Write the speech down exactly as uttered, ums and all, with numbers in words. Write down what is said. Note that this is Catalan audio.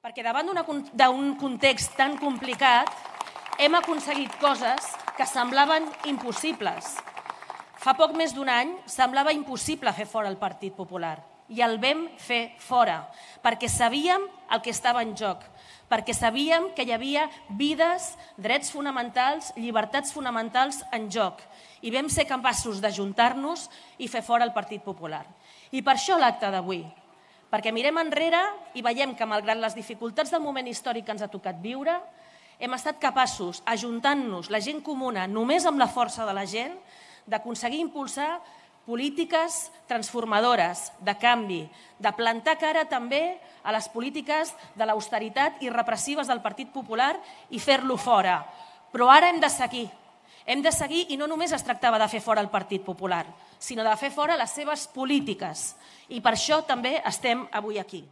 Perquè davant d'un context tan complicat hem aconseguit coses que semblaven impossibles. Fa poc més d'un any semblava impossible fer fora el Partit Popular i el vam fer fora perquè sabíem el que estava en joc, perquè sabíem que hi havia vides, drets fonamentals, llibertats fonamentals en joc i vam ser capaços d'ajuntar-nos i fer fora el Partit Popular. I per això l'acte d'avui, perquè mirem enrere i veiem que, malgrat les dificultats del moment històric que ens ha tocat viure, hem estat capaços, ajuntant-nos, la gent comuna, només amb la força de la gent, d'aconseguir impulsar polítiques transformadores, de canvi, de plantar cara també a les polítiques de l'austeritat i repressives del Partit Popular i fer-lo fora. Però ara hem de seguir. Hem de seguir i no només es tractava de fer fora el Partit Popular, sinó de fer fora les seves polítiques. I per això també estem avui aquí.